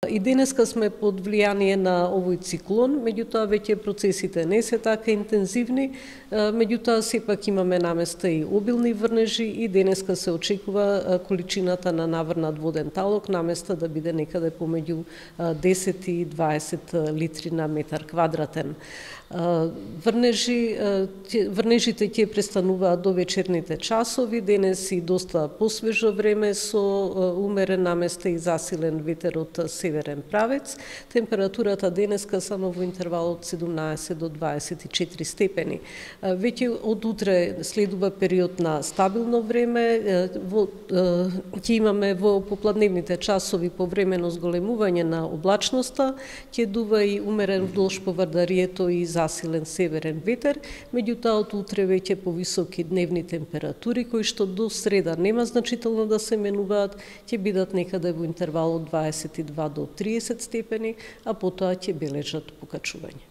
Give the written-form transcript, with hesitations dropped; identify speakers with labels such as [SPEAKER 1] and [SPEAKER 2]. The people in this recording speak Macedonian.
[SPEAKER 1] И денеска сме под влијание на овој циклон, меѓутоа веќе процесите не се така интензивни, меѓутоа сепак имаме наместа и обилни врнежи и денеска се очекува количината на наврнат воден талок наместа да биде некаде помеѓу 10 и 20 литри на метар квадратен. Врнежите ќе престануваат до вечерните часови, денес и доста посвежо време со умерен наместа и засилен ветер од северен правец. Температурата денеска само во интервал од 17 до 24 степени. Веќе од утре следува период на стабилно време, ќе имаме во попладневните часови повремено зголемување на облачноста, ќе дува и умерен вдолж по Вардарието и засилен северен ветер, меѓутоа од утре веќе повисоки дневни температури кои што до среда нема значително да се менуваат, ќе бидат некаде во интервал од 22 до 30 степени, а потоа ќе бележат покачување.